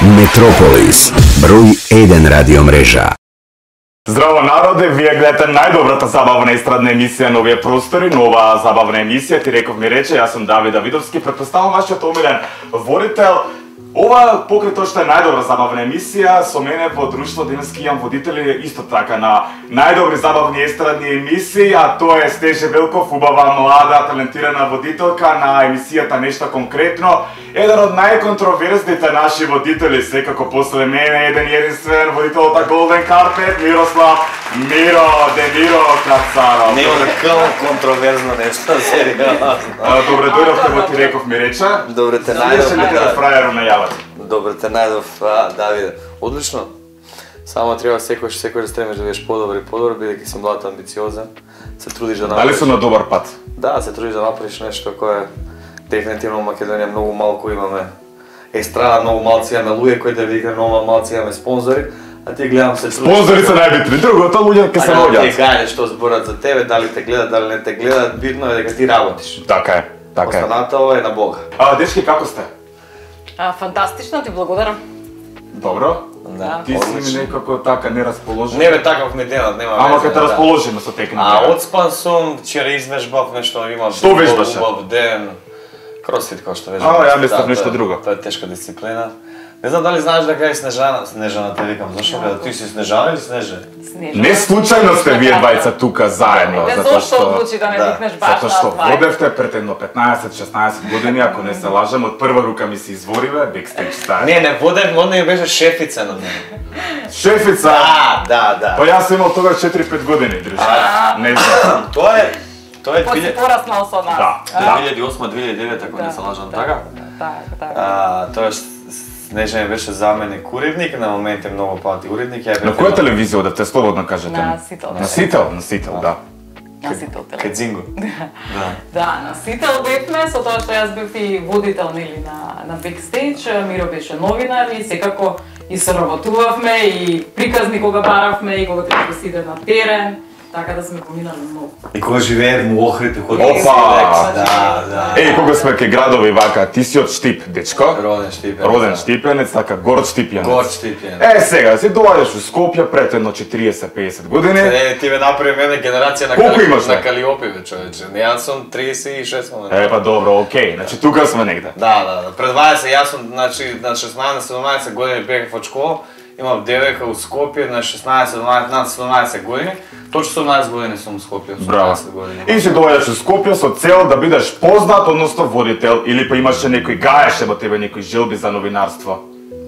Метрополис, број 1 радио мрежа. Здраво народе, вие гледате најдобрата забавна естрадна емисија на овие простори, нова забавна емисија, ти реков ми рече, јас сум Давид Давидовски, претпоставам вашиот омилен водител. Ова покрај тоа што е најдобра забавна емисија, со мене во друштво денески имам водители исто така на најдобри забавни естрадни емисии, а тоа е Стеже Велков, убава млада талентирана водителка на емисијата Нешто конкретно. Еден од најконтроверзните наши водители, секако после мене, еден единствен водителот на Голден Карпет, Мирослав Миро Демиро Кацаров. Нема такова контроверзно нешто, сериозно. Добре дојдовте во ти реков ми рече. Добре те Следеше ли те најдов. фрајеру најават? Добре те најдов, Давиде. Одлично. Само треба секој да стремиш да бидеш подобар, бидејќи си млад, амбициозен, се трудиш да направиш. Дали сум на добар пат? Да, се трудиш да направиш нешто кое дефинитивно во Македонија многу малку имаме естрада, многу малци имаме луѓе кои да викаме, многу малци имаме спонзори, а ти гледам се трудиш. Спонзори се најбитни, другото луѓе ќе се Ти наоѓаат. гајдеш што зборат за тебе, дали те гледат, дали не те гледат, битно е дека ти работиш. Така е, така е. Останата ова е на Бога. Дечки, како сте? Фантастично, ти благодарам. Добро? Да, Ти си ми некако така нерасположен. Не бе, таков ми денат, нема Ама везе, кога те расположиме со техника. Отспан сум, вчера извежбав нешто, имав Што вежбаше? убав ден. Кросфит кој што вежбав. Ја мислев нешто друго. Тоа е тешка дисциплина. Не знам дали знаеш дека е Снежана те викам, зашо бе, ти си Снежана или Снеже? Не случајно сте вие двајца тука заедно, Не затоа зошто одлучи да не викнеш баш затоа што на двајца. водевте пред едно 15-16 години, ако не се лажам, од прва рука ми се извориве, бекстејдж стаја. Не водев, он не беше шефица на мене. Шефица! Да. Па јас сум имал тогаш 4-5 години, дружи. Не знам. Тоа е Поси пораснал со нас. Да. 2008-2009, ако не се лажам, така? Така. Тоа Снежана беше заменик уредник, на моменти многу пати уредник. На која телевизија одевте, слободно кажете? На Сител. На Сител, да. На Сител телевизија. Кедзинго. Да, на Сител бевме, со тоа што јас бев и водител нели на бекстејдж, Миро беше новинар и секако и соработувавме и приказни кога баравме и кога треба да се иде на терен, така да сме поминали многу. И кога живеев во Охрид, Опа! Да. Кога сме кај градови вака, ти си од Штип, дечко? Роден Штипенец. Роден Штипенец, така горд Штипјанец. Горд Штипенец. Сега, си доаѓаш у Скопје пред едно 40-50 години. Ти ме направи мене генерација на Колку имаш, на Калиопи, бе, човече. Јас сум 36 момента. Па добро, окей. Значи тука сме негде. Да. Пред 20 јас сум, значи на 16-17 години бев од школа. Имав девојка у Скопје на 16-17 над 17 години. Точно 18 години сум у Скопје, 18 години. И си доаѓаш у Скопје со цел да бидеш познат, односно водител, или па имаше некој гаеше во тебе некои желби за новинарство?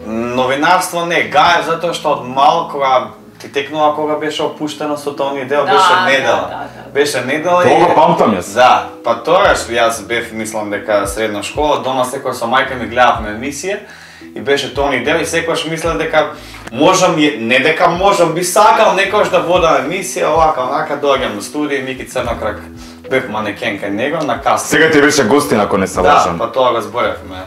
Новинарство не, гаев затоа што од мал кога ти текнува кога беше опуштено со тони дел, беше недела. Беше недела и... Тоа памтам јас. Да, па тогаш јас бев, мислам дека средна школа, дома секој со мајка ми гледавме емисија и беше тони дел и секојаш мислев дека можам, не дека можам, би сакал некојаш да водам емисија, овака, онака, доаѓам на студија, Мики Црнокрак, бев манекен кај него на каста. Сега ти беше гостин ако не се лажам. Да, па тоа го зборевме.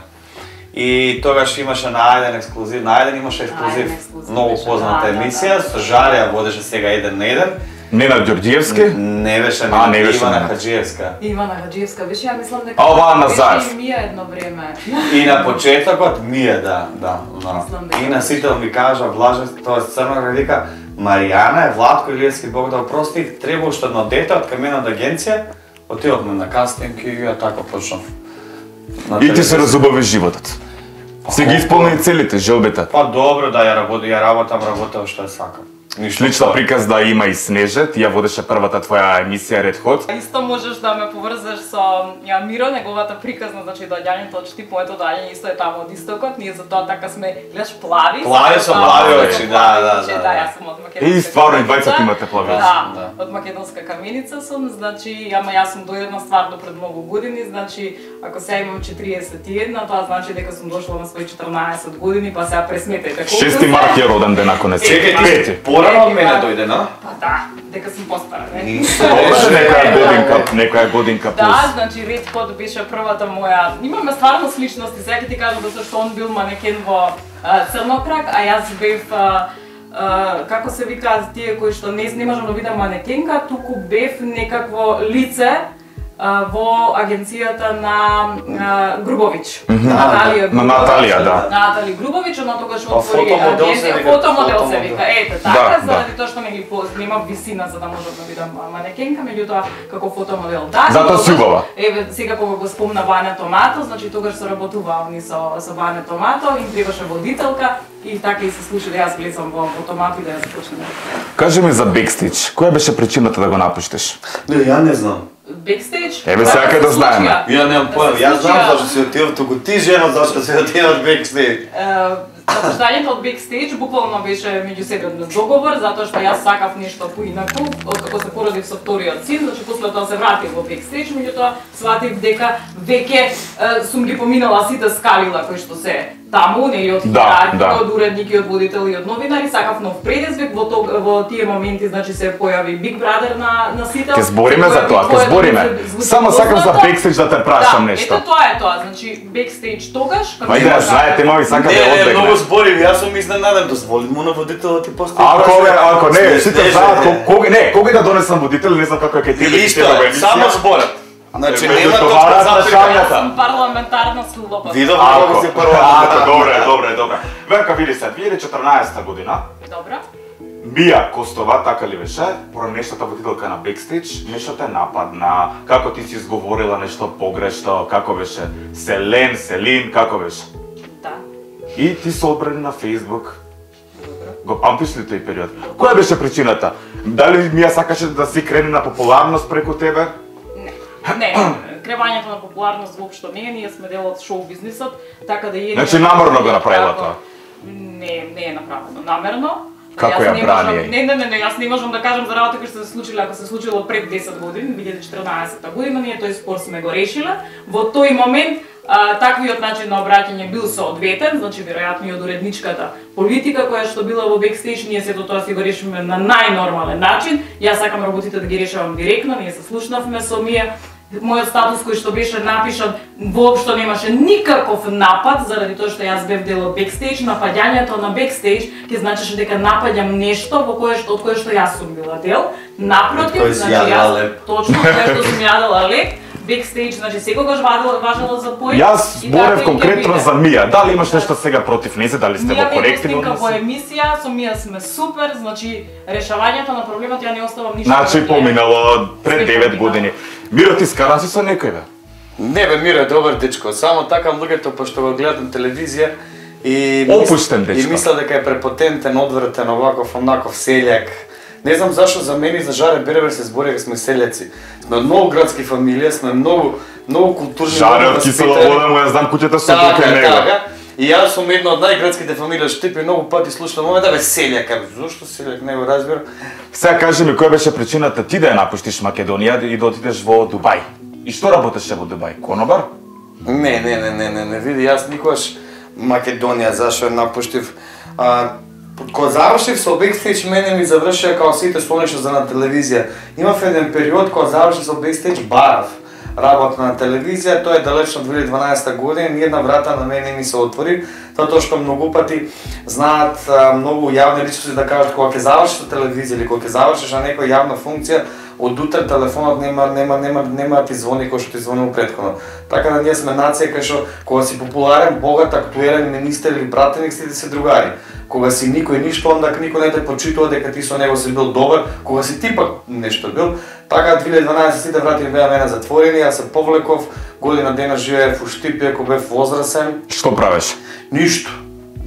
И тогаш имаше на Ајден ексклузив, на Ајден имаше ексклузив, многу позната емисија, со Жарија водеше сега 1 на 1. Нена Ѓорѓиевски? Не беше не беше Ивана Хаџиевска. Ивана Хаџиевска беше, ја мислам дека ова Назаев. беше и Мија едно време. И на почетокот Мија, да. Мислам дека И на Сител ми кажа, Блажен, тоа Црноград вика, Маријана е Владко Илиевски, Бог да опрости, треба уште едно дете од кај мене од агенција, отидовме на кастинг и ја така почнав. И ти се разубави животот. Си ги исполни целите, желбите. Па добро да ја работам што ја сакам. Слична приказ да има и Снеже, ти ја водеше првата твоја емисија Ред Хот. Исто можеш да ме поврзеш со Миро, неговата приказна, значи доаѓањето од Штип, моето доаѓање исто е таму од истокот, ние затоа така сме, гледаш, плави. Плави со плави очи, да. Да, јас сум од македонска. И стварно и двајцата имате плави очи. Да, од македонска каменица сум, значи, ама јас сум дојдена стварно пред многу години, значи, ако сега имам 41, тоа значи дека сум дошла на своји 14 години, па сега пресметете колку 6 март е роден ден ако не се. Чекај, порано од мене дојде, на? Па да, дека сум постара, не? Беше некоја годинка плюс. Да, значи Ред Хот беше првата моја. Имаме стварно сличности, сега ти кажам да што он бил манекен во Црнокрак, а јас бев како се викаат тие кои што не можам да видам манекенка, туку бев некакво лице во агенцијата на Грубович. На Наталија, да. Натали Грубович, она тогаш отвори фотомодел се агенција, вика, фотомодел се вика. Ете, така, Да, заради тоа што нема висина за да можам да видам манекенка, меѓутоа како фотомодел да. Затоа си убава. Еве, сега кога го спомна Ваня Томато, значи тогаш се работува они со Ваня Томато, им требаше водителка и така и се случи да јас влезам во Томато и да ја започнем. Кажи ми за бекстејдж, која беше причината да го напуштиш? Не, ја не знам. Бекстејдж? Еве сега да знаеме. Ја немам појма, јас знам зашто си отидов туку ти жена зашто си отидов бекстејдж. Напуштањето од бекстејдж буквално беше меѓусебен договор, затоа што јас сакав нешто поинаку, откако се породив со вториот син, значи после тоа се вратив во бекстејдж, меѓутоа сватив дека веќе сум ги поминала сите скалила кои што се таму, нели од од уредник и од водител и од новинари, сакав нов предизвик, во тие моменти значи се појави Big Brother на сител. Ке збориме за тоа, ке збориме. Само сакам за бекстејдж да те прашам нешто. Ето тоа е тоа, значи бекстејдж тогаш како Ајде, знаете, мој сака да одбегне. Многу зборив, јас сум изненаден, дозволи му на водителот ти постои. Ако не, сите знаат кога да донесам водител, не знам како е кај тебе. Само зборат. Значи нема точка запрашањата. Парламентарна слобода. Видов како се парламентарна. Добре. Верка, види се, 2014 година. Добро. Мија Костова, така ли беше, пронешната водителка на бекстејдж, нешто те нападна, како ти си изговорила нешто погрешно, како беше Селин, како беше? Да. И ти се одбрани на Facebook. Го памтиш ли тој период? Која беше причината? Дали Мија сакаше да си крени на популарност преку тебе? Не, кревањето на популарност воопшто не е, ние сме дел од шоу бизнисот, така да е. Значи намерно го направила тоа? Не е направено намерно. Како ја брани? Не, јас не можам да кажам за работа кои се случиле, ако се случило пред 10 години, 2014 година, ние тој спор сме го решиле. Во тој момент таквиот начин на обраќање бил соодветен, значи веројатно и од уредничката политика која што била во бекстејдж, ние сето тоа си го решиме на најнормален начин. Јас сакам работите да ги решавам директно, ние се слушнавме со Мија. Мојот статус кој што беше напишан воопшто немаше никаков напад заради тоа што јас бев дел од бекстејдж. Напаѓањето на бекстејдж ќе значеше дека напаѓам нешто од кое што јас сум била дел. Напротив, значи јас точно кое што сум јадела лек. Бекстејдж, значи секогаш важело за пој. Јас зборев конкретно за Мија. Дали имаш нешто сега против нејзе, дали сте во коректни односи? Мија во емисија, со Мија сме супер, значи решавањето на проблемот ја не оставам ништо. Значи поминало пред 9 години. Миро, ти скаран си со некој бе? Не бе, Миро е добар дечко, само такам луѓето пошто го гледам телевизија и опуштен дечко. И мисля дека е препотентен, одвратен, оваков, онаков селјак. Не знам зашо за мене и за Жаре Бербер се збореве, сме селјаци. Сме од многу градски фамилија, сме многу културни. Жаре од Кисела вода му ја знам куќата со тој него. И јас сум една од најградските фамилии од Штип и многу пати слушам да бе селјак, зошто селјак, не го разбирам. Сега кажи ми која беше причината ти да ја напуштиш Македонија и да отидеш во Дубај? И што работеше во Дубај? Конобар? Не, види, јас никогаш Македонија зашо ја напуштив. Кога завршив со бекстејдж, мене ми завршија као сите сонеше за на телевизија. Имав еден период кога завршив со бекстејдж, барав работа на телевизија, тоа е далечно 2012 година, ниједна врата на мене ми се отвори, затоа што многу пати знаат многу јавни личности да кажат кога ќе завршиш со телевизија или кога ќе завршиш на некоја јавна функција, од утре телефонот нема да ти звони кој што ти звонил претходно. Така да ние сме нација кај што кога си популарен, богат, актуелен министер или пратеник сите се другари. Кога си никој ништо, онда никој не те почитува дека ти со него си бил добар, кога си ти пак нешто бил. Така 2012 сите врати беа мене затворени, јас се повлеков, година дена живеев во Штипје, кога бев возрасен. Што правиш? Ништо.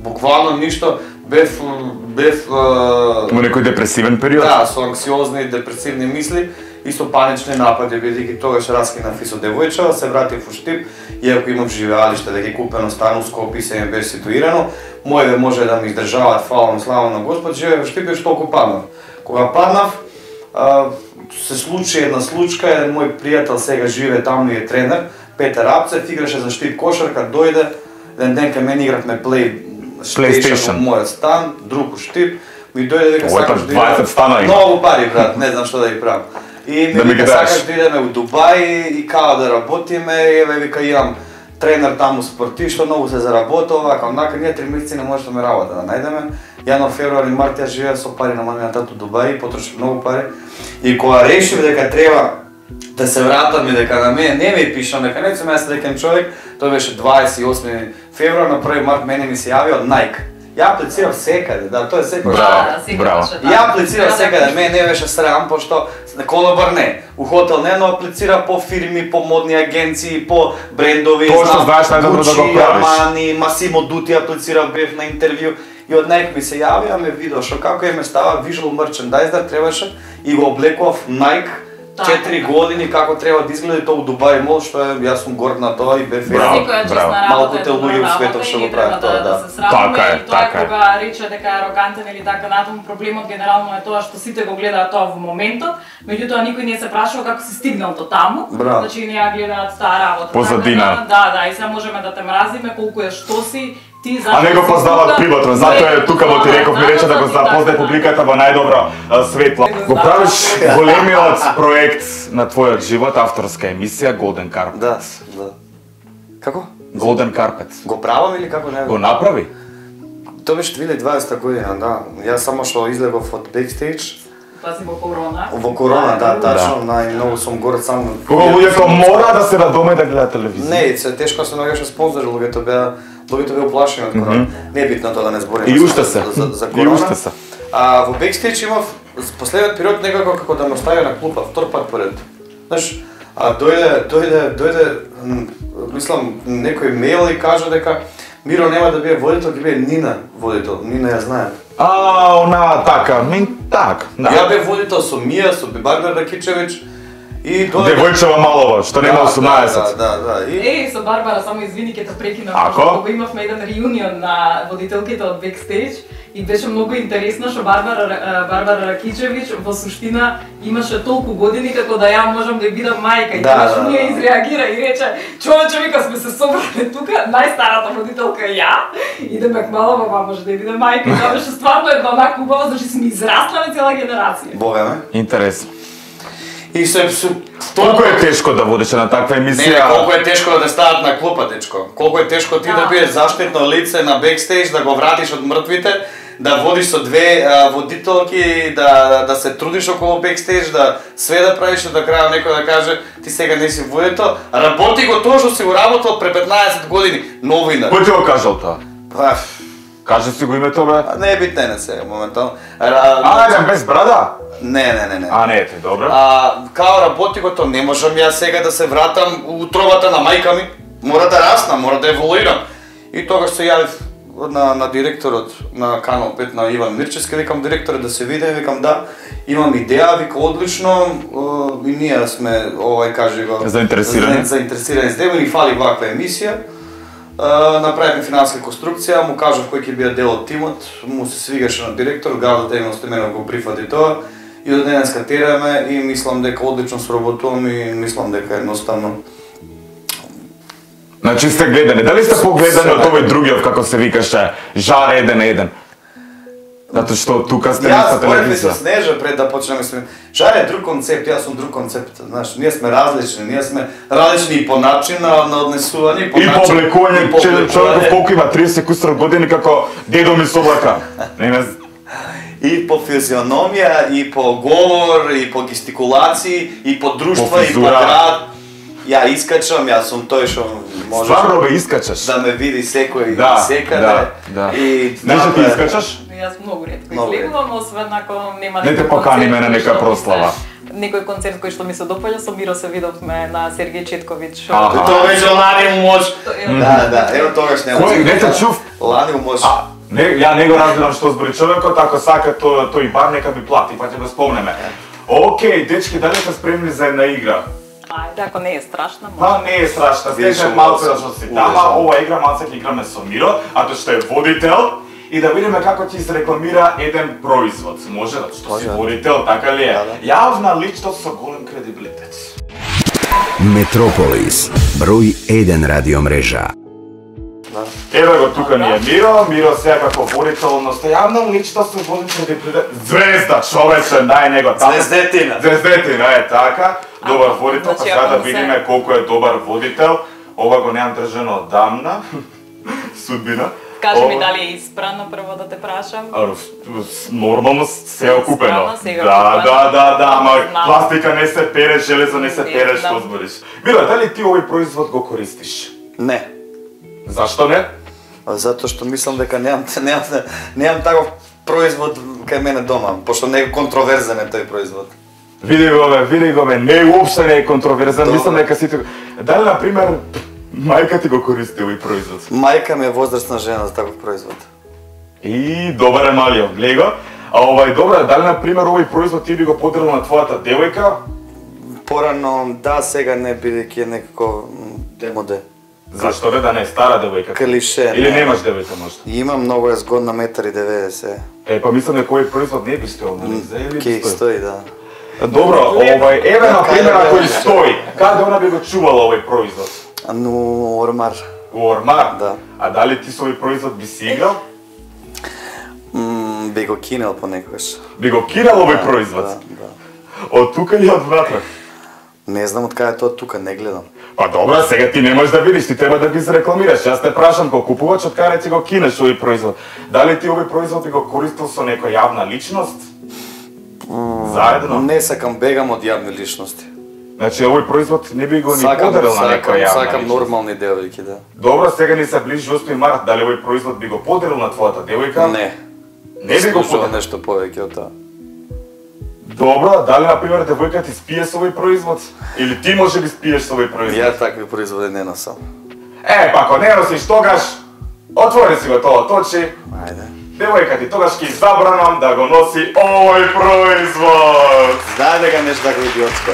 Буквално ништо. Бев во некој депресивен период? Да, со анксиозни и депресивни мисли и со панични напади, бидејќи тогаш раскинав и со девојчава, се вратив во Штип, иако имав живеалиште, дека е купено стан у Скопје и се ми беше ситуирано, моеве може да ми издржаваат, фала слава на Господ, живеев во Штип и штолку паднав. Кога паднав, се случи една случка, еден мој пријател сега живее таму и е тренер, Петер Апцев, играше за Штип кошарка, дојде, еден ден кај мене игравме PlayStation во мојот стан, друг у Штип, ми дојде дека сакаш да идеме. Многу пари, брат, не знам што да ги правам. И ми вика сакаш да идеме у Дубај и као да работиме, еве вика имам тренер таму спортив, што многу се заработува, вака онака, ние 3 месеци не можеме работа да најдеме. Јануар, февруар и март ја живеев со пари на мамината у Дубај, потрошив многу пари. И кога решив дека треба Да се вратам и дека на мене не ми пишам, дека не сум јас среќен човек, тоа беше 28 февруар, на 1 март мене ми се јави од Nike. Ја аплицирав секаде, да, тоа е секој. Браво. Ја аплицирав секаде, мене не беше срам, пошто конобар не. У хотел не, но аплицира по фирми, по модни агенции, по брендови, Тоа што знаеш најдобро да го правиш. Armani, Massimo Dutti аплицирав, бев на интервју. И од Nike ми се јавија, ме видео што како ме става visual merchandiser требаше и го облекував Nike 4 години како треба да изгледа тоа у Дубај мол, што е, јас сум горд на тоа и бев малку те луѓе у светот што го прават тоа, да. Така е, тоа е кога рече дека е арогантен или така натаму, проблемот генерално е тоа што сите го гледаат тоа во моментот, меѓутоа никој не се прашува како си стигнал до таму. Значи не ја гледаат таа работа. Позадина. Да, и сега можеме да те мразиме колку е што си. А не го познават приватно, затоа е тука во ти реков, ми рече да го запознае публиката во најдобро светло. Го правиш големиот проект на твојот живот, авторска емисија Golden Carpet. Да. Како? Golden Carpet. Го правам или како не? Го направи? Тоа беше 2020 година, да. Јас само што излегов од бекстејдж. Пази во корона. Во корона, да, тачно, најмногу сум горд сам. Кога луѓето мора да се радоме да гледаат телевизија. Не, се тешко се наоѓаше спонзори, луѓето беа уплашени од корона. Не е битно тоа да не збориме И уште се. за корона. А во бекстејдж имав последниот период некако како да ме остави на клупа, втор пат поред. Знаеш, дојде, мислам, некој мејл и кажа дека Миро нема да биде водител, ќе биде Нина водител. Нина ја знаем. Она така, так. Ја бев водител со Мија, со Барбара Ракичевиќ и Девојчева Малова, што нема 18. Да. Со Барбара, само извини, ќе те прекинам, Ако? кога имавме еден реунион на водителките од бекстејдж и беше многу интересно што Барбара Ракичевиќ во суштина имаше толку години како да ја можам да бидам мајка и тогаш ние изреагира и рече: "Човече, вика, сме се собрали тука, најстарата водителка е ја и Демек Малова може да биде мајка." И тоа беше стварно една онака убава, значи сме израснали цела генерација. Бога ме. Интересно. И се Колку е тешко да водиш на таква емисија? Не, колку е тешко да те стават на клупа, дечко. Колку е тешко ти да бидеш заштитно лице на бекстејдж, да го вратиш од мртвите, да водиш со две водителки, да се трудиш околу бекстејдж, да све да правиш, до крај некој да каже ти сега не си водител, работи го тоа што си го работел пред 15 години, новинар. Кој ти го кажал тоа? Кажи си го името, бе. Не е битно на сега моментално. Без брада? Не. Не ете, добро. Као работи го тоа, не можам ја сега да се вратам у утробата на мајка ми. Мора да раснам, мора да еволуирам. И тогаш се јавив на директорот на Канал 5 на Иван Мирчевски, викам директорот да се видиме, викам да, имам идеја, вика одлично и ние сме, кажи го, заинтересирани за тебе, ни фали ваква емисија. Направивме финансска конструкција, му кажав кој ќе биде дел од тимот, му се свигаше на директор, градот едноставно го прифати тоа и до денеска тераме и мислам дека одлично сработувам и мислам дека едноставно. Значи сте гледани, дали сте погледани од овој другиот, како се викаше, Жар 1-1? Затоа што тука сте на телевизија. Јас со Снежа пред да почнеме сме. Жар е друг концепт, јас сум друг концепт. Знаеш, ние сме различни и по начин на однесување, и по облекување, човеков колку има 30 кусор години како дедо ми соблака. И по физиономија, и по говор, и по гестикулации, и по друштва, и по град. Ја искачам, јас сум тој што може. Стварно бе искачаш. Да ме види секој секаде. Не што ти искачаш? Јас многу ретко излегувам, освен ако нема некој. Не те поканиме на нека прослава. Некој концерт кој што ми се допаѓа, со Миро се видовме на Сергеј Четковиќ. Тоа беше лани у мош. Да, ево тогаш нема. Кој не те чув? Лани у мош. Ја не го разбирам што збори човекот, ако сака тој бар нека ми плати, па ќе го спомнеме. Океј, дечки, дали сте спремни за една игра? Ајде, ако не е страшна, Па не е страшна, стеше малку да што си тама, ова игра малце ќе играме со Миро, а тој што е водител, и да видиме како ќе се рекламира еден производ. Може да што си водител, така ли е? Јавна личност со голем кредибилитет. Метрополис, број 1 радиомрежа. Еве го тука ни е Миро сега како водител, но јавна личност со голем кредибилитет. Звезда, човече, дај него таму. Звездетина, е така. Добар водител, па сега да видиме колку е добар водител. Ова го немам држано одамна. Судбина. Кажи ми дали е испрано прво да те прашам. Нормално се е окупено. Да, ама пластика не се пере, железо не се пере, што збориш. Мила, дали ти овој производ го користиш? Не. Зашто не? Затоа што мислам дека немам таков производ кај мене дома, пошто не е контроверзен е тој производ. Види го бе, не уопште не е контроверзен, мислам дека сите... Дали, например, мајка ти го користи овој производ? Мајка ми е возрастна жена за таков производ. И добар е малиот, глеј го. А добра, дали, например, овој производ ти би го подарил на твојата девојка? Порано, да, сега не, бидејќи е некако демоде. Зашто да не е стара девојка? Клише. Или немаш девојка можда? Имам, многу е згодна, 1,90 м. Па мислам дека овој производ не би стоел, нели? Ке стои, да. Добро, еве на пример ако и стои, каде она би го чувала овој производ? У Ормар. У Ормар? Да. А дали ти со овој производ би си играл? Би го кинел понекогаш. Би го кинал овој производ? Да. Од тука или од внатре? Не знам од каде тоа тука, не гледам. Па добро, сега ти не можеш да видиш, ти треба да ги зарекламираш. Јас те прашам како купувач од каде ти го кинеш овој производ. Дали ти овој производ би го користил со некоја јавна личност? Заедно? Не сакам, бегам од јавни личности. Значи овој производ не би го ни подарил на некоја јавна Сакам личност? нормални девојки, да. Добро, сега ни се ближи 8 март, дали овој производ би го подарил на твојата девојка? Не. Не би го Слушам подарил? нешто повеќе од тоа. Добро, дали например девојка ти спие со овој производ? Или ти може би спиеш со овој производ? Ја такви производи не носам. Па ако не носиш тогаш, отвори си го тоа точи. Ајде. Девојка ти тогаш ќе забранам да го носи овој производ. Знај дека нешто тако идиотско.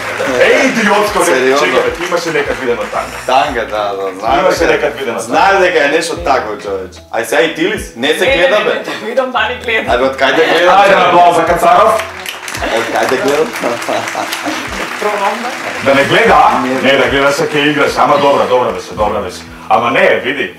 Идиотско, Сериозно? чекай, ти имаше некад видено танга. Танга, да. Имаше некад видено танга. Знај дека е нешто тако, човече. Ај сега и ти ли си? Не се гледа, бе. Видам дали гледам. Абе, од кај да гледам? Ајде на аплауз за Кацаров. Од кај да гледам? Пробам Да не гледа, а? Не, да гледаш ќе играш, ама добра беше. Ама не, види,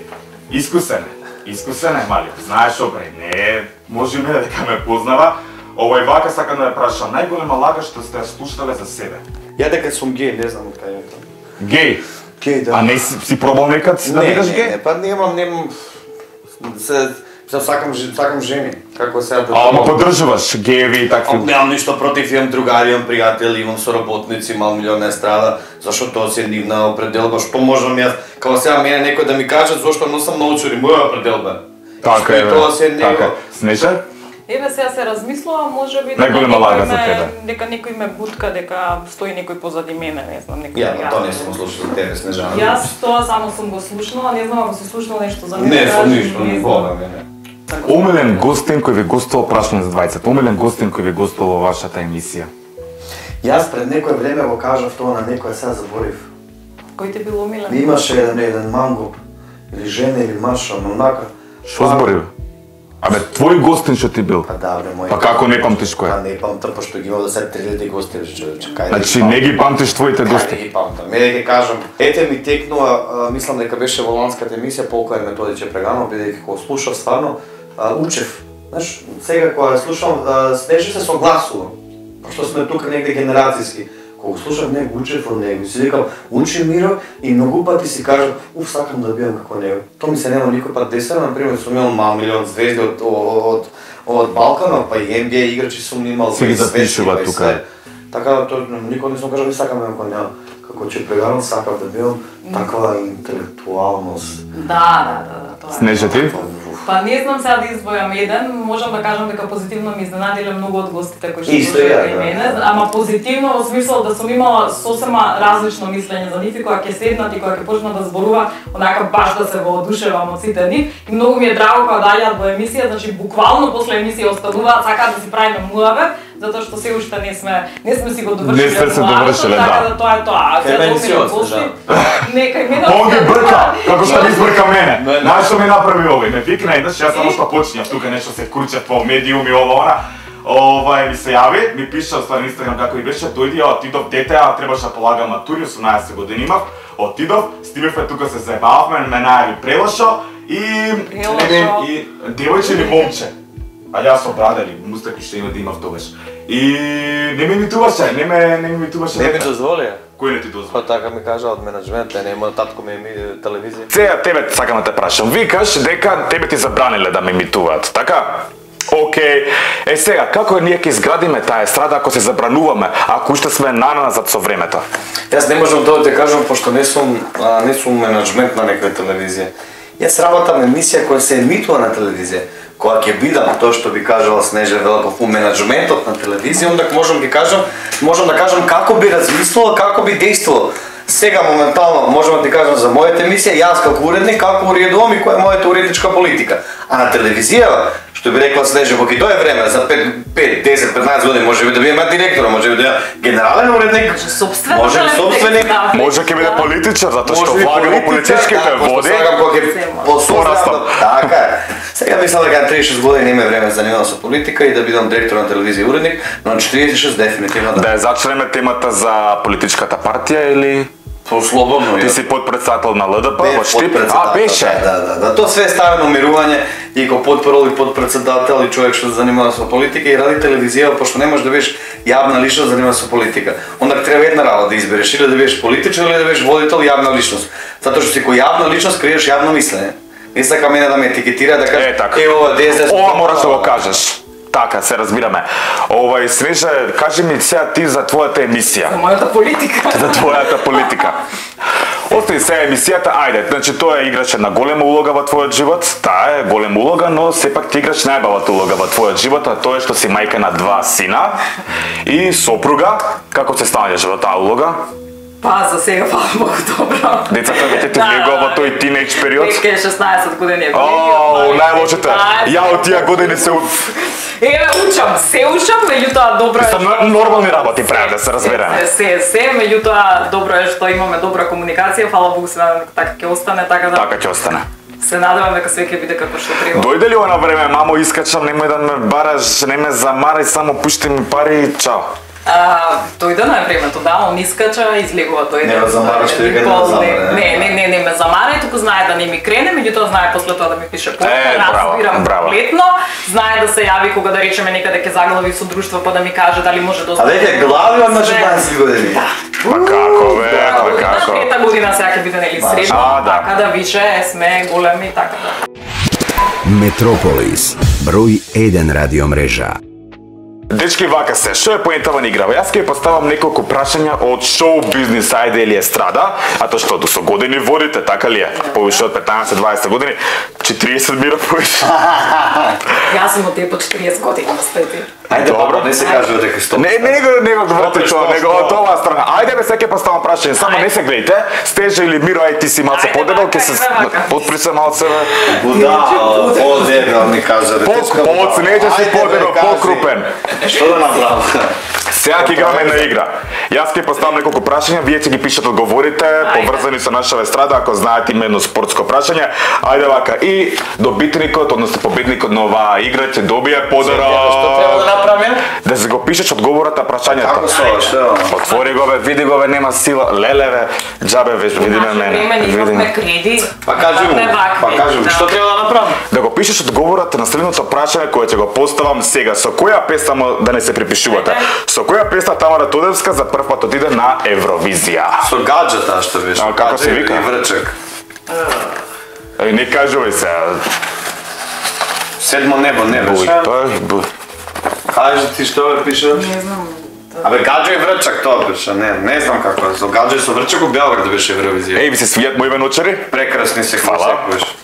искусен е мали, знаеш обре, не, може и мене дека ме познава. Овој вака сакам да ме прашам, најголема лага што сте ја слушнале за себе? Ја дека сум геј, не знам од кај е тоа. Геј? Геј, да. А не си пробал некад да бидеш геј? Не, па немам, сакам жени, како сега да... Ама поддржуваш гејеви и такви? Немам ништо против, имам другари, имам пријатели, имам соработници, мал милион естрада, зашто тоа си е нивна определба, што можам јас, како сега мене некој да ми каже зошто носам научури, моја определба. Така е, тоа си е него. така. Снежа? Еве сега се размислувам, може би Најголема лага за тебе. дека некој ме бутка, дека стои некој позади мене, не знам, некој. Ја, тоа не сум слушал за тебе, Снежана. Јас тоа само сум го слушнала, не знам ако си слушнал нешто за мене. Не сум кажи, ништо, не не знам. бога мене. Омилен гостин кој ви гостувал, прашувам за двајцата, омилен гостин кој ви гостувал во вашата емисија? Јас пред некој време го кажав тоа на некој, сега заборив. Кој те бил омилен? Имаше еден мангоп, или жена или маша, но онака. Што збори? Абе, твој гостин што ти бил? Па да, бре, мој. Па како не памтиш кој? Па не памтам, пошто ги имав да се 3000 гости, човече. Значи не ги памтиш твоите Кај гости? да ги памтам. Мене ќе кажам, ете ми текнува, мислам дека беше во ланската емисија, Полко е Методиче преганал, бидејќи кога слушав стварно, учев. Знаеш, сега кога слушам, Снежи се согласувам. Пошто сме тука негде генерацијски. Кога слушам него, учев од него, си викам, учи Миро и многу пати си кажам, сакам да бидам како него. Тоа ми се нема никој пат десено, например, сум имал мал милион звезди од Балканот, па и NBA играчи сум имал. Се ги запишува тука. Така да тоа никој не сум кажал, не сакам да бидам како него. Како че прегарам, сакам да бидам таква интелектуалност. Да, тоа е. Снежа ти? Па не знам сега да избројам еден, можам да кажам дека позитивно ми изненадиле многу од гостите кои што Исто дошли ја, кај да. мене, ама позитивно во смисол да сум имала сосема различно мислење за нив и кога ќе седнат и кога ќе почнат да зборува, онака баш да се воодушевам од сите нив. И многу ми е драго кога доаѓаат во емисија, значи буквално после емисија остануваат, сакаат да си правиме муавет, затоа што се уште не сме си го довршиле. Не сте се довршиле, така да. да тоа е тоа. А сега емисиот, гости, нека мене. Он ги брка, како што ми збрка мене. Знаеш што ми направи овој? Ме викна еднаш, јас само што почнав тука нешто се кручев по медиуми ова она. Ми се јави, ми пиша во стварно Инстаграм како и беше, дојди, отидов дете, требаше да полагам матури, 18 години имав. Отидов, стигнавме тука се заебававме, ме најави Прелошо и девојче или момче. А јас со брада или мустаки што има да имав тогаш. И не ми имитуваше. Не ми дозволија. Кој не ти дозволи? Па така ми кажа од менеджмент, нема татко ми телевизија. Сега тебе сакам да те прашам. Викаш дека тебе ти забраниле да ме емитуваат, така? Океј. Сега, како ние ќе изградиме таа естрада ако се забрануваме, ако уште сме наназад со времето? Јас не можам тоа да те кажам, пошто не сум менеджмент на некоја телевизија. Јас работам емисија која се емитува на телевизија. Кога ќе бидам тоа што би кажала Снежа Велков у менеджментот на телевизија, онда можам да кажам како би размислила, како би действувала. Сега моментално можам да ти кажам за мојата емисија, јас како уредник како уредувам и која е мојата уредничка политика. А на телевизија, што би рекла Снежа, кога дое време за 5, 10, 15 години може би да биде директор, може би да биде генерален уредник, може би собственик, може ќе биде политичар затоа што влага во политичките води. Така е. Сега мислам дека на 36 години има време да занимавам со политика и да бидам директор на телевизија и уредник, но на 46 дефинитивно да. Да ја зачнеме темата за политичката партија или слободно. Ти си подпредседател на ЛДП во Штип? Беше. Да. Тоа све е ставено мирување и како подпрол и подпредседател и човек што се занимава со политика и ради телевизија, пошто не можеш да бидеш јавна личност да занимава со политика. Онда треба една работа да избереш или да бидеш политичар или да бидеш водител јавна личност. Затоа што си кој јавна личност креираш јавно мислење. Не сака мене да ме етикетира да каже ова ДСД. Ова мораш да го кажеш. Така, се разбираме. Снежа, кажи ми сега ти за твојата емисија. За мојата политика. За твојата политика. Остави сега емисијата, ајде, значи тоа играше на голема улога во твојот живот, таа е голема улога, но сепак ти играш најбавата улога во твојот живот, а тоа е што си мајка на 2 сина и сопруга. Како се станеш во таа улога? Па, за сега многу добро. Децата веќе ти влегува во тој тинејдж период? Веќе 16 години е најлошите. Ја од тие години се се учам, меѓутоа добро е. Нормални работи прави да се разбереме. Меѓутоа добро е што имаме добра комуникација, фала Богу се надевам дека така ќе остане, така да. Така ќе остане. Се надевам дека све ќе биде како што треба. Дојде ли она време, мамо, искачам, немој да ме бараш, не ме замарај, само пушти ми пари и чао. Дојде на времето, да, он искача, излегува дојде. Не ме замараш, тој га не замара. Не ме замара, туку знае да не ми крене, меѓутоа знае после тоа да ми пише порука, разбирам комплетно, знае да се јави кога да речеме некаде ќе заглави со друштво па да ми каже дали може да. А веќе глави од 16 години. Па како бе, па како. Пета година сега ќе биде нели средно, така да више сме големи, така да. Метрополис, број 1 радиомрежа. Дечки, вака се, што е поентава на играва? Јас ќе поставам неколку прашања од шоу бизнис, ајде или естрада, а тоа што со години водите, така ли е? Повише од 15-20 години, 40 мира повише. Јас сум од тие по 40 години, стајте. Ајде, добро, не се кажува дека 100%. Не го врати тоа, него од оваа страна. Ајде бе, сега ќе поставам прашање, само не се гледате. Стежа или Миро, ај ти си малце подебел, ќе се отпри се малце бе. Будал, подебел ми кажа. Поцнете си подебел, покрупен. Што да направам? Сега ќе играме на игра. Јас ќе поставам неколку прашања, вие ќе ги пишете одговорите, поврзани со нашава естрада, ако знаете именно спортско прашање. Ајде вака, и добитникот, односно победникот на оваа игра ќе добие подарок. Што треба да направам? Да се го пишеш одговорот на прашањето. Како што? Отвори го бе, види го бе, нема сила. Лелеве, џабе веќе видиме мене. Имаме кредит. Па кажи му, што треба да направам? Да го пишеш одговорот на следното прашање кое ќе го поставам сега. Со која песна да не се припишувате? Со која песна Тамара Тодевска за прв пат отиде на Евровизија? Со гаджета што беше. Како се вика? И врчак. Не кажувај се. Седмо небо, не беше. Кажи ти што бе пише? Не знам. Абе, гаджо и врчак тоа пише, не знам како е. Со гаджо и со врчак у Белград беше Евровизија. Еј, ви се свијат мои веночари? Прекрасни се секогаш.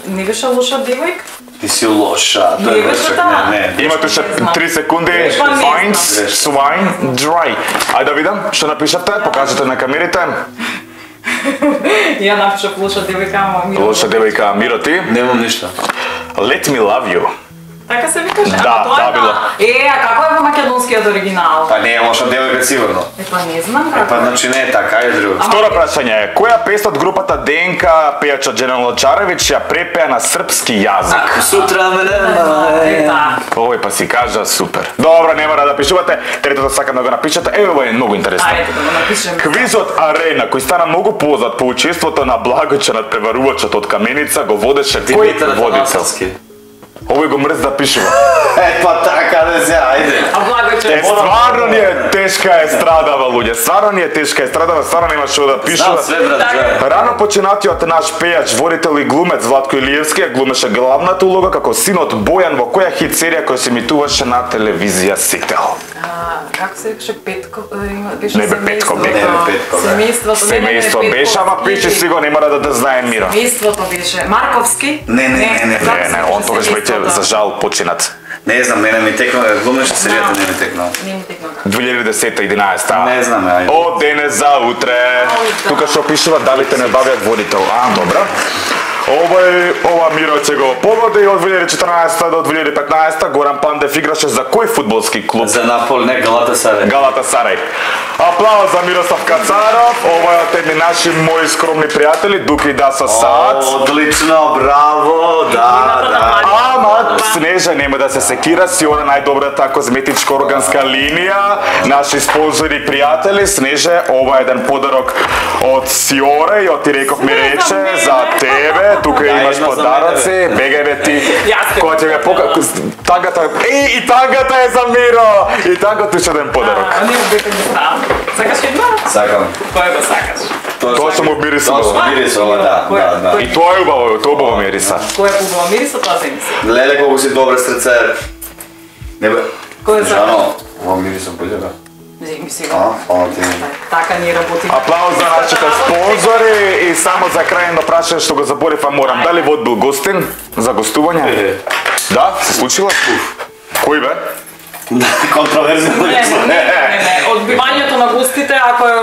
Не беше лоша девојка? Ти си лоша, тоа е врчак, не. Имате ше 3 секунди. Fine, swine, dry. Ајде да видам, што напишавте, покажете на камерите. Ја напишав лоша девојка, ама Миро. Лоша девојка, Миро ти? Немам ништо. Let me love you. Така се викаше? Да, било. А како е во македонскиот оригинал? Па не е лоша девојка сигурно. Па не знам како. Па значи не е така, е друго. Второ прашање е, која песна од групата ДНК пејачот Дженел Лачаревич ја препеа на српски јазик? Сутра ме нема. Овој па си кажа супер. Добро, не мора да пишувате, третото сакам да го напишете. Ево е многу интересно. Ајде да го напишеме. Квизот Арена, кој стана многу познат по учеството на Благоче над преварувачот од Каменица, го водеше кој водител? Овој го мрз да пишува. Па така да се, ајде. А благо че. Стварно ни е тешка естрадава, луѓе. Стварно ни е тешка естрадава, стварно нема што да пишува. Знам све, брат. Рано починатиот наш пејач, водител и глумец Владко Илиевски ја глумеше главната улога како синот Бојан во која хит серија која се емитуваше на телевизија Сител. Како се викаше Петко? Беше Не бе Петко, не бе Петко. Семејството. Семејство беше, ама пиши си го, нема да знае Мира. Семејството беше. Марковски? Не. Не, он тогаш веќе за жал починат. Не знам, мене ми текна, глумеше серијата не ми текна. Не ми текна. 2010-11. Не знам, ајде. Од денес за утре. Тука што пишува Давите не бавиат водител. Добра. Ова Миро ќе го погоди од 2014 до 2015 Горан Пандев играше за кој фудбалски клуб? За Наполи, не Галатасарај. Галатасарај. Аплауз за Мирослав Кацаров. Ова е од едни наши мои скромни пријатели Дуки и Дасо Сац. Одлично, браво, да. Ама Снежа нема да се секира, си она најдобрата козметичка органска линија, наши спонзори и пријатели. Снеже, ова е еден подарок од Сиора и од ти реков ми рече за тебе. Тука имаш подароци, бегај бе ти. Која ќе ме покажа тагата. И тагата е за Миро. И тагата е еден подарок. Не му бека ми става. Сакаш една? Сакам. Кој го сакаш? Тоа што му мирисува. Тоа што мирисува, да. И тоа е убаво, тоа убаво мириса. Кој е убава мириса, тоа се мисли. Леле колку си добре срце. Не бе. Кој е за? Ова мирисам полјава. Земи си го. Фала ти. Така ни работи. Аплауз за нашите спонзори и само за крај на прашање што го заборев, морам. Дали вод бил гостин за гостување? Да, се случила? Кој бе? Контроверзно. Не. Одбивањето на гостите, ако е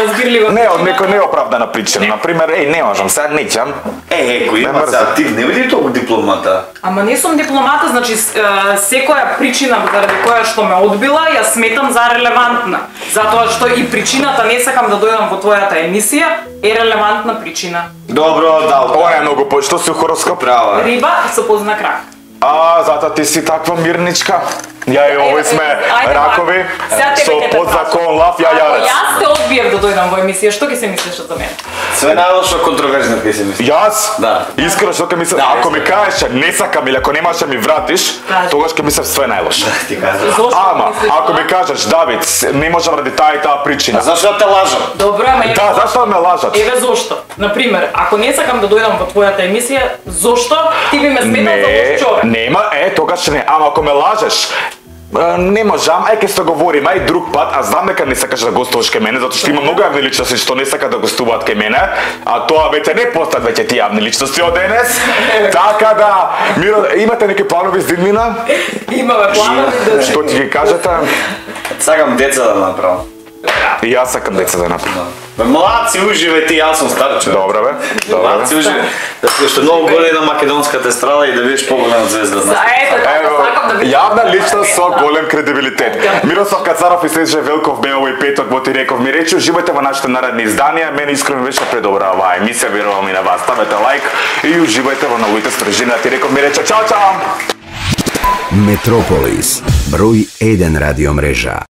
разбирливо. Не, од некој неоправдана причина. Например, не можам, сега не ќам. Кој има за ти не види толку дипломата. Ама не сум дипломата, значи секоја причина заради која што ме одбила, ја сметам за релевантна. Затоа што и причината не сакам да дојдам во твојата емисија е релевантна причина. Добро, да. Ова е многу што си хороскоп. Права. Риба со познак рак. Затоа ти си таква мирничка. Ја и овој сме ракови, со подзакон лав ја јарец. Јас те одбиев да дојдам во емисија, што ќе се мислиш за мене? Све најлошо контроверзно ќе се мисли. Јас? Да. Искрено што ќе мислам, ако ми кажеш не сакам или ако немаш да ми вратиш, тогаш ќе мислам све најлошо. Ти кажеш. Ама, ако ми кажеш Давид, не можам ради таа и таа причина. Зашто те лажам? Добро, ама Да, зашто ме лажат? Еве зошто. Например, ако не сакам да дојдам во твојата емисија, зошто ти би ме сметал за лош човек? Нема, тогаш не. Ама ако ме лажеш, не можам, ќе се договориме и друг пат, а знам дека не сакаш да гостуваш кај мене, затоа што има многу јавни личности што не сакаат да гостуваат кај мене, а тоа веќе не постат веќе тие јавни личности од денес. Така да, Миро, имате неки планови за иднина? Имаме планови да... Што ти ги кажете? Сакам деца да направам. И јас сакам деца да направам. Младци уживајте, јас сум стар човек. Добре бе, добре Младци бе. уживајте. Да што многу голе на македонската естрада и да бидеш поголема звезда. Ето, сакам да видам. Јавна личност со голем кредибилитет. Мирослав Кацаров и Снежа Велков беа овој петок во Ти реков ми рече. Уживајте во нашите наредни изданија. Мене искрено беше предобра оваа емисија, верувам и на вас. Ставете лайк и уживајте во новите стржини на Ти реков ми рече. Чао, чао! Метрополис, број 1 радиомрежа.